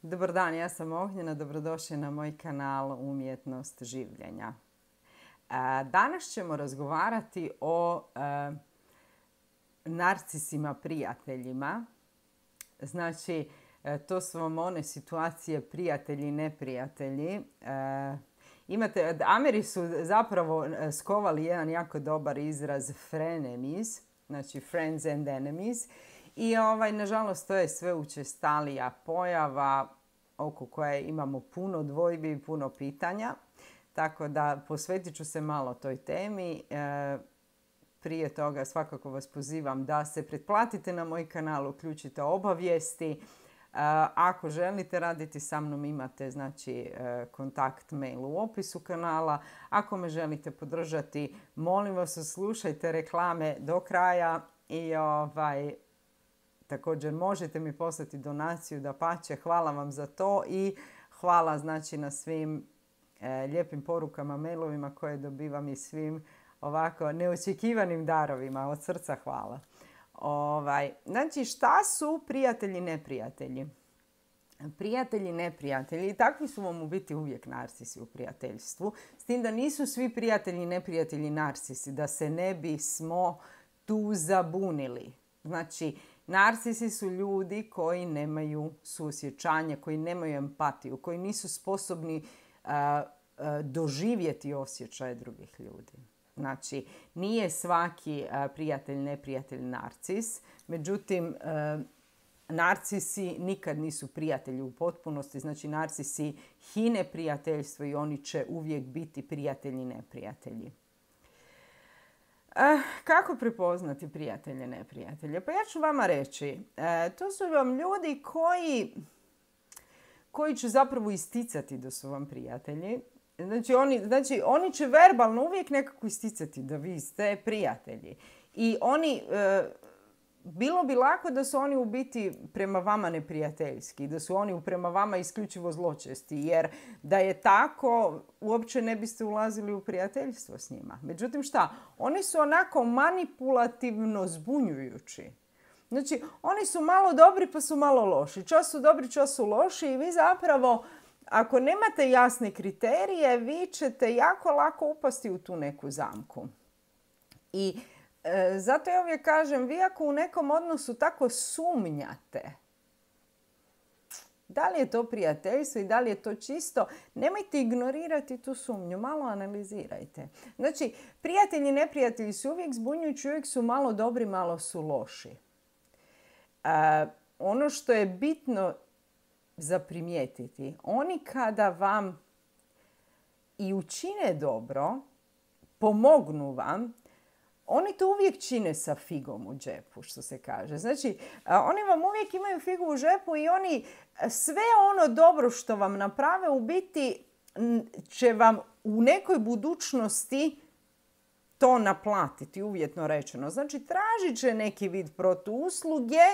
Dobar dan, ja sam Ognjena, dobrodošli na moj kanal Umjetnost življenja. Danas ćemo razgovarati o narcisima prijateljima. Znači, to su vam one situacije prijatelji i neprijatelji. Ameri su zapravo skovali jedan jako dobar izraz frenemies, znači friends and enemies. I nažalost to je sve učestalija pojava oko koje imamo puno dvojbi i puno pitanja. Tako da posvetit ću se malo toj temi. Prije toga svakako vas pozivam da se pretplatite na moj kanal, uključite obavijesti. Ako želite raditi sa mnom imate kontakt mail u opisu kanala. Ako me želite podržati, molim vas slušajte reklame do kraja i također možete mi poslati donaciju, dapače, hvala vam za to i hvala na svim lijepim porukama, mailovima koje dobivam i svim ovako neočekivanim darovima. Od srca hvala. Znači, šta su prijatelji i neprijatelji? Prijatelji i neprijatelji, takvi su vam u biti uvijek narcisi u prijateljstvu. S tim da nisu svi prijatelji i neprijatelji narcisi, da se ne bismo tu zabunili. Znači, narcisi su ljudi koji nemaju suosjećanje, koji nemaju empatiju, koji nisu sposobni doživjeti osjećaje drugih ljudi. Znači, nije svaki prijatelj, neprijatelj narcis. Međutim, narcisi nikad nisu prijatelji u potpunosti. Znači, narcisi hine prijateljstvo i oni će uvijek biti prijatelji i neprijatelji. Kako prepoznati prijatelje, neprijatelje? Pa ja ću vama reći, to su vam ljudi koji će zapravo isticati da su vam prijatelji. Znači, oni će verbalno uvijek nekako isticati da vi ste prijatelji. I bilo bi lako da su oni u biti prema vama neprijateljski, da su oni prema vama isključivo zločesti, jer da je tako uopće ne biste ulazili u prijateljstvo s njima. Međutim, šta? Oni su onako manipulativno zbunjujući. Znači, oni su malo dobri pa su malo loši. Čas su dobri, čas su loši i vi zapravo, ako nemate jasne kriterije, vi ćete jako lako upasti u tu neku zamku. I zato ja uvijek kažem, vi ako u nekom odnosu tako sumnjate, da li je to prijateljstvo i da li je to čisto, nemojte ignorirati tu sumnju, malo analizirajte. Znači, prijatelji i neprijatelji su uvijek zbunjujući, uvijek su malo dobri, malo su loši. Ono što je bitno za primijetiti, oni kada vam i učine dobro, pomognu vam, oni to uvijek čine sa figom u džepu, što se kaže. Znači, oni vam uvijek imaju figu u džepu i oni sve ono dobro što vam naprave u biti će vam u nekoj budućnosti to naplatiti, uvjetno rečeno. Znači, tražit će neki vid protuusluge,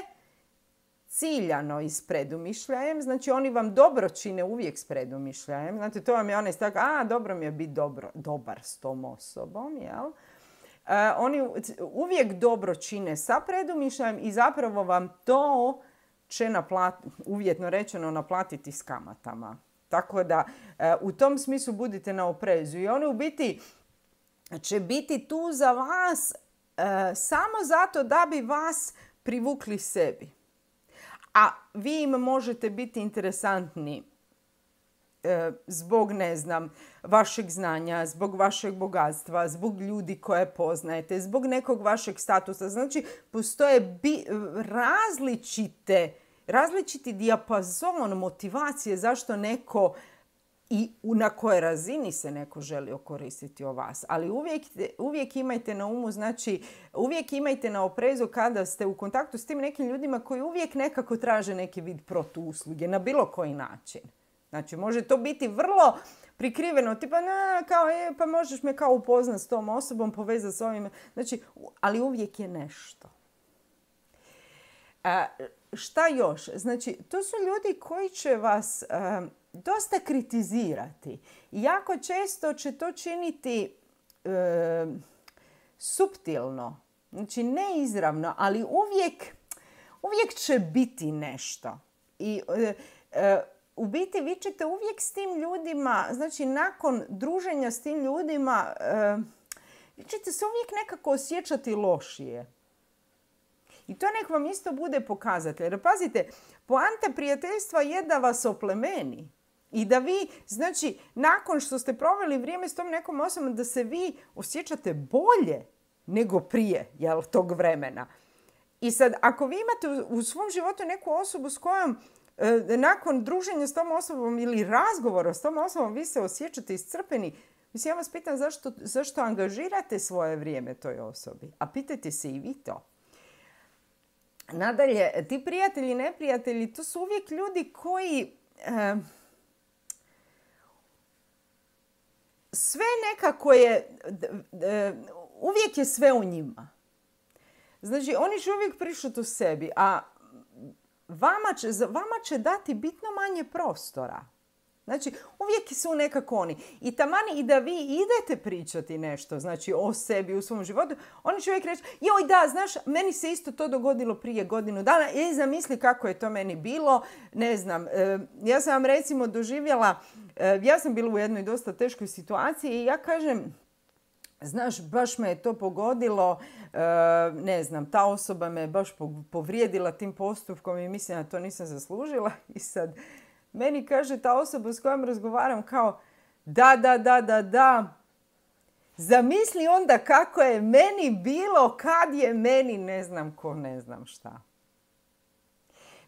ciljano i s predumišljajem. Znači, oni vam dobro čine uvijek s predumišljajem. Znate, to vam je onaj stavak, dobro mi je biti dobar s tom osobom, jel? Oni uvijek dobro čine sa predumišljajem i zapravo vam to će uvjetno rečeno naplatiti s kamatama. Tako da u tom smislu budite na oprezu. I oni u biti će biti tu za vas samo zato da bi vas privukli sebi. A vi im možete biti interesantni zbog, vašeg znanja, zbog vašeg bogatstva, zbog ljudi koje poznajete, zbog nekog vašeg statusa. Znači, postoje različiti dijapazon motivacije zašto neko i na kojoj razini se neko želi okoristiti o vas. Ali uvijek imajte na umu, znači uvijek imajte na oprezu kada ste u kontaktu s tim nekim ljudima koji uvijek nekako traže neki vid protuusluge na bilo koji način. Znači, može to biti vrlo prikriveno, tipa, pa možeš me kao upoznat s tom osobom, povezati s ovim. Znači, ali uvijek je nešto. Šta još? Znači, to su ljudi koji će vas dosta kritizirati. I jako često će to činiti suptilno. Znači, ne izravno, ali uvijek će biti nešto. I u biti vi ćete uvijek s tim ljudima, znači nakon druženja s tim ljudima, vi ćete se uvijek nekako osjećati lošije. I to nek vam isto bude pokazatelj. Jer pazite, poanta prijateljstva je da vas oplemeni. I da vi, znači, nakon što ste proveli vrijeme s tom nekom osobom, da se vi osjećate bolje nego prije tog vremena. I sad, ako vi imate u svom životu neku osobu s kojom nakon druženja s tom osobom ili razgovora s tom osobom vi se osjećate iscrpeni, mislim, ja vas pitam zašto angažirate svoje vrijeme toj osobi. A pitajte se i vi to. Nadalje, ti prijatelji i neprijatelji, to su uvijek ljudi koji sve nekako je, uvijek je sve u njima. Znači, oni će uvijek pričati o sebi, a vama će dati bitno manje prostora. Znači, uvijek su nekako oni. I tamani i da vi idete pričati nešto, znači o sebi u svom životu, oni će uvijek reći, joj da, znaš, meni se isto to dogodilo prije godinu dana, zamisli kako je to meni bilo, ne znam. Ja sam vam recimo doživjela, ja sam bila u jednoj dosta teškoj situaciji i ja kažem, znaš, baš me je to pogodilo, ne znam, ta osoba me baš povrijedila tim postupkom i mislim da to nisam zaslužila. I sad meni kaže ta osoba s kojom razgovaram kao, da, zamisli onda kako je meni bilo kad je meni ne znam ko, ne znam šta.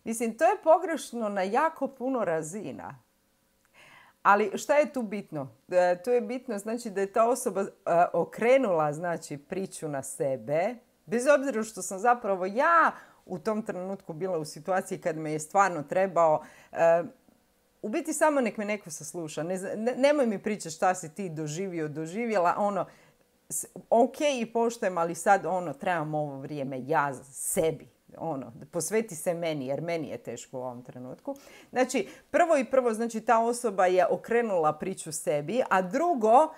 Mislim, to je pogrešno na jako puno razina. Ali šta je tu bitno? Tu je bitno znači da je ta osoba okrenula znači priču na sebe, bez obzira što sam zapravo ja u tom trenutku bila u situaciji kad me je stvarno trebao. U biti samo nek me neko sasluša. Nemoj mi pričati šta si ti doživjela. Ok i poštujem, ali sad trebam ovo vrijeme ja sebi. Posveti se meni, jer meni je teško u ovom trenutku. Znači, prvo, znači ta osoba je okrenula priču sebi, a drugo,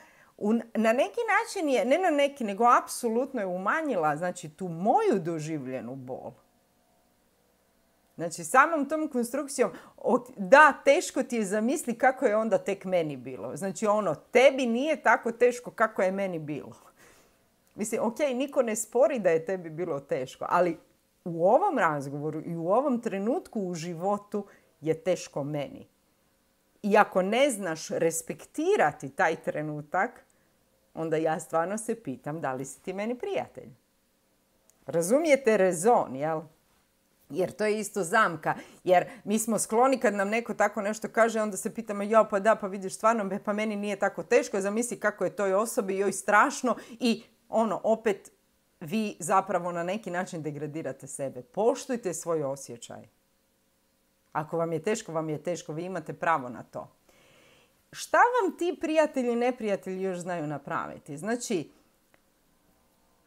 na neki način je, ne na neki, nego apsolutno je umanjila, znači, tu moju doživljenu bol. Znači, samom tom konstrukcijom, da, teško ti je zamisli kako je onda tek meni bilo. Znači, tebi nije tako teško kako je meni bilo. Mislim, ok, niko ne spori da je tebi bilo teško, ali u ovom razgovoru i u ovom trenutku u životu je teško meni. I ako ne znaš respektirati taj trenutak, onda ja stvarno se pitam da li si ti meni prijatelj. Razumijete rezon, jel? Jer to je isto zamka. Jer mi smo skloni kad nam neko tako nešto kaže, onda se pitamo, pa vidiš stvarno, pa meni nije tako teško, zamisli kako je toj osobi, joj strašno i opet vi zapravo na neki način degradirate sebe. Poštujte svoj osjećaj. Ako vam je teško, vi imate pravo na to. Šta vam ti prijatelji i neprijatelji još znaju napraviti? Znači,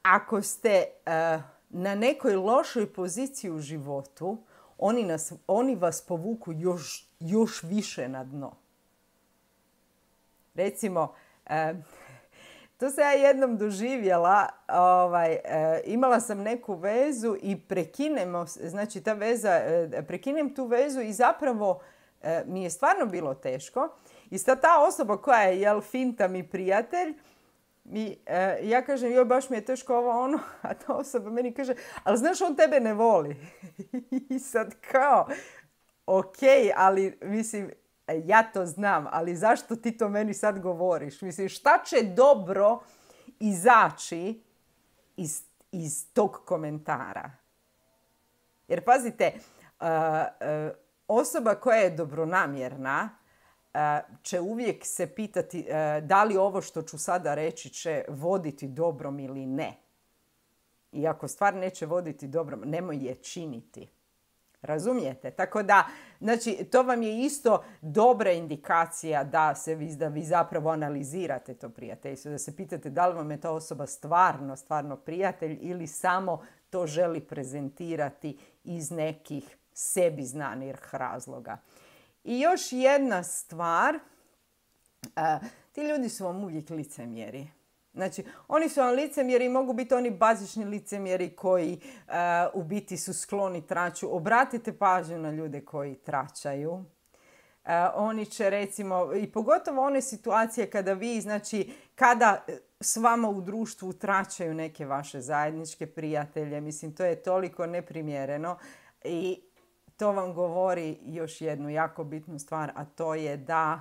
ako ste na nekoj lošoj poziciji u životu, oni vas povuku još više na dno. Recimo, to sam ja jednom doživjela, imala sam neku vezu i prekinem tu vezu i zapravo mi je stvarno bilo teško. I sad ta osoba koja je, finta mi prijatelj, ja kažem, joj, baš mi je teško ovo, a ta osoba meni kaže, ali znaš, on tebe ne voli. I sad kao, ok, ali mislim, ja to znam, ali zašto ti to meni sad govoriš? Mislim, šta će dobro izaći iz tog komentara? Jer pazite, osoba koja je dobronamjerna će uvijek se pitati da li ovo što ću sada reći će voditi dobrom ili ne. I ako stvar neće voditi dobrom, nemoj je činiti. Razumijete? Tako da, znači, to vam je isto dobra indikacija da vi zapravo analizirate to prijateljstvo, da se pitate da li vam je ta osoba stvarno prijatelj ili samo to želi prezentirati iz nekih sebi znanih razloga. I još jedna stvar, ti ljudi su vam uvijek licemjeri. Znači, oni su vam licemjeri i mogu biti oni bazični licemjeri koji u biti su skloni traću. Obratite pažnju na ljude koji traćaju. Oni će recimo, i pogotovo one situacije kada vi, znači, kada s vama u društvu tračaju neke vaše zajedničke prijatelje, mislim, to je toliko neprimjereno i to vam govori još jednu jako bitnu stvar, a to je da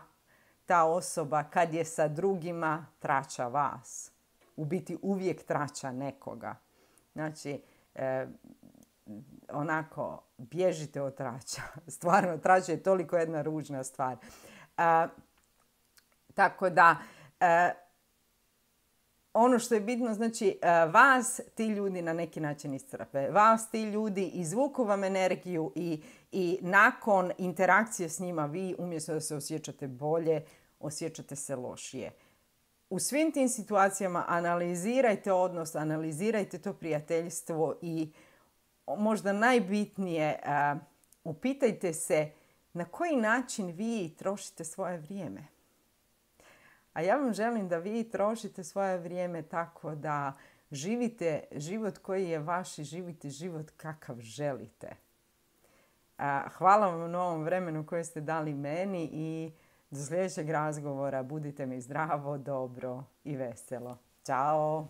ta osoba kad je sa drugima trača vas. U biti uvijek trača nekoga. Znači, onako, bježite od trača. Stvarno, trača je toliko jedna ružna stvar. Tako da, ono što je bitno, znači, vas ti ljudi na neki način iscrpe. Vas ti ljudi izvuku vam energiju i nakon interakcije s njima vi umjesto da se osjećate bolje, osjećate se lošije. U svim tim situacijama analizirajte odnos, analizirajte to prijateljstvo i možda najbitnije, upitajte se na koji način vi trošite svoje vrijeme. A ja vam želim da vi trošite svoje vrijeme tako da živite život koji je vaš i živite život kakav želite. Hvala vam na ovom vremenu koje ste dali meni i do sljedećeg razgovora budite mi zdravo, dobro i veselo. Ćao!